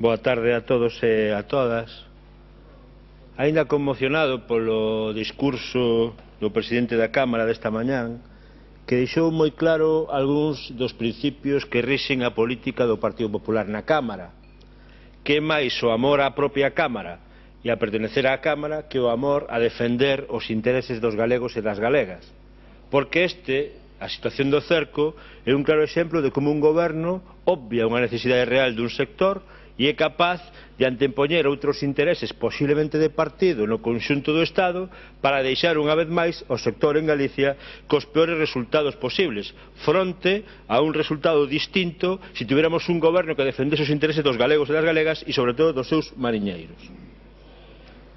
Boa tarde a todos e a todas. Aínda conmocionado polo discurso do presidente da Cámara desta mañán, que deixou moi claro algúns dos principios que rixen a política do Partido Popular na Cámara, que é máis o amor á propia Cámara e a pertenecer á Cámara que o amor a defender os intereses dos galegos e das galegas, porque a situación do cerco é un claro exemplo de como un goberno obvia unha necesidade real dun sector e é capaz de antepoñer outros intereses posiblemente de partido no conxunto do Estado para deixar unha vez máis o sector en Galicia cos peores resultados posibles, fronte a un resultado distinto se tuviéramos un goberno que defendese os intereses dos galegos e das galegas e sobre todo dos seus mariñeiros.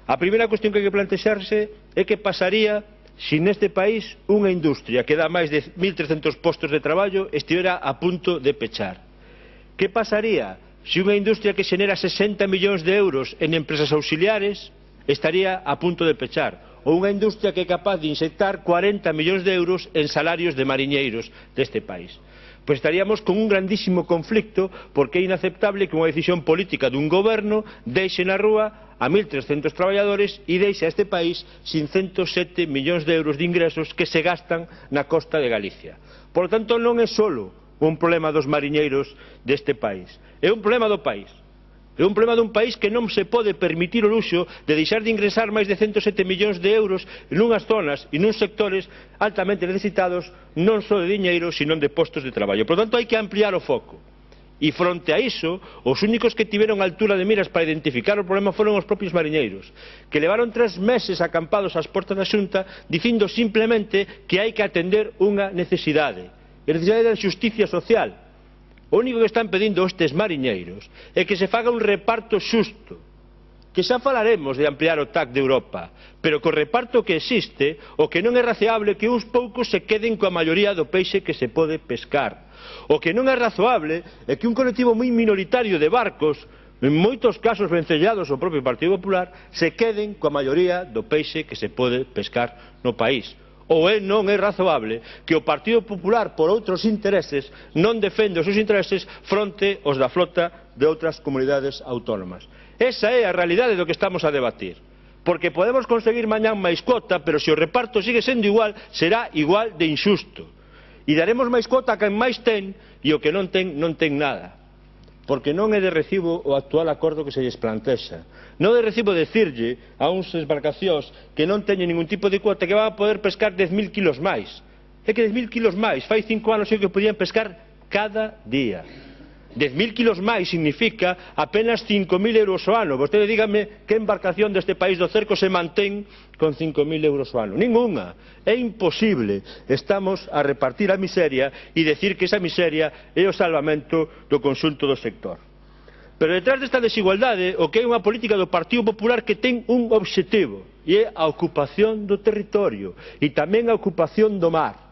A primeira cuestión que hai que plantexarse é que pasaría se neste país unha industria que dá máis de 1.300 postos de traballo estivera a punto de pechar. Que pasaría se unha industria que xenera 60 millóns de euros en empresas auxiliares estaría a punto de pechar, ou unha industria que é capaz de inyectar 40 millóns de euros en salarios de mariñeiros deste país? Pois estaríamos con un grandísimo conflicto, porque é inaceptable que unha decisión política dun goberno deixe na rúa a 1.300 traballadores e deixe a este país sin 107 millóns de euros de ingresos que se gastan na costa de Galicia. Por lo tanto, non é só un problema dos mariñeiros deste país, é un problema do país. É un problema dun país que non se pode permitir o luxo de deixar de ingresar máis de 107 millóns de euros nunhas zonas e nuns sectores altamente necesitados non só de diñeiro, sino de postos de traballo. Por lo tanto, hai que ampliar o foco. E fronte a iso, os únicos que tiveron altura de miras para identificar o problema foron os propios mariñeiros, que levaron 3 meses acampados ás portas da Xunta dicindo simplemente que hai que atender unha necesidade, a necesidade da xusticia social. O único que están pedindo estes mariñeiros é que se faga un reparto xusto, que xa falaremos de ampliar o TAC de Europa, pero co reparto que existe, o que non é razoable que uns poucos se queden coa maioría do peixe que se pode pescar. O que non é razoable é que un colectivo moi minoritario de barcos, en moitos casos vencellados ao propio Partido Popular, se queden coa maioría do peixe que se pode pescar no país. Ou non é razoable que o Partido Popular, por outros intereses, non defende os seus intereses fronte aos da flota de outras comunidades autónomas. Esa é a realidade do que estamos a debatir. Porque podemos conseguir mañán máis cuota, pero se o reparto sigue sendo igual, será igual de injusto. E daremos máis cuota a quen máis ten, e o que non ten nada. Porque non é de recibo o actual acordo que se lles plantexa. Non é de recibo decirlle a uns embarcacións que non teñen ningún tipo de cuota que van a poder pescar 10.000 kilos máis. É que 10.000 kilos máis, fai 5 anos que podían pescar cada día. 10.000 kilos máis significa apenas 5.000 euros ao ano. Vostede dígame que embarcación deste país do cerco se mantén con 5.000 euros ao ano. Ninguna. É imposible. Estamos a repartir a miseria e decir que esa miseria é o salvamento do conxunto do sector. Pero detrás desta desigualdade, o que é unha política do Partido Popular que ten un obxectivo, e é a ocupación do territorio e tamén a ocupación do mar.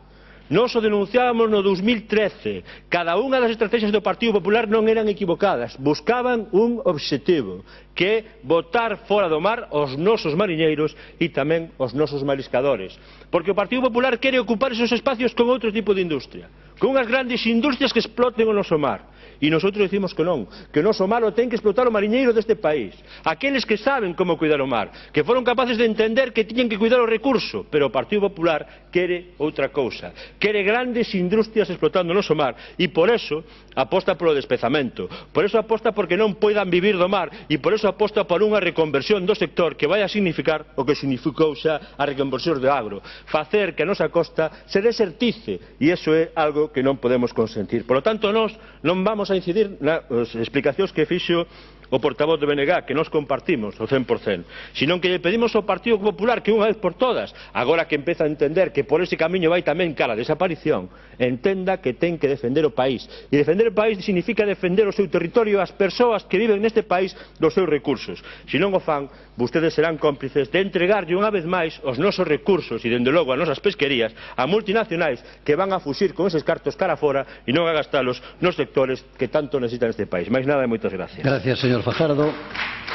Nós o denunciábamos no 2013. Cada unha das estrategias do Partido Popular non eran equivocadas. Buscaban un obxectivo, que é botar fora do mar os nosos mariñeiros e tamén os nosos mariscadores. Porque o Partido Popular quere ocupar esos espacios con outro tipo de industria, con unhas grandes industrias que exploten o noso mar. E nosotros decimos que non, que o noso mar o ten que explotar o mariñeiro deste país, aqueles que saben como cuidar o mar, que foron capaces de entender que tiñen que cuidar o recurso, pero o Partido Popular quere outra cousa, quere grandes industrias explotando o noso mar, e por eso aposta polo despezamento, por eso aposta porque non poidan vivir do mar, e por eso aposta por unha reconversión do sector que vai a significar o que significou xa a reconversión do agro, facer que a nosa costa se desertice, e iso é algo que non podemos consentir. Por lo tanto, nós non vamos a incidir nas explicacións que fixo o portavoz do BNG, que nos compartimos o 100%, senón que lle pedimos ao Partido Popular que unha vez por todas, agora que empeza a entender que por ese camiño vai tamén cara a desaparición, entenda que ten que defender o país. E defender o país significa defender o seu territorio, as persoas que viven neste país dos seus recursos. Se non o fan, vostedes serán cómplices de entregarlle unha vez máis os nosos recursos e, dende logo, as nosas pesquerías a multinacionais que van a fuxir con eses cartos cara fora e non a gastalos nos sectores que tanto necesitan este país. Máis nada e moitas gracias. Gracias, señor Fajardo.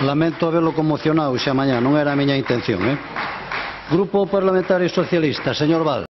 Lamento haberlo conmocionado xa mañá, non era a miña intención. Grupo Parlamentario Socialista, señor Val.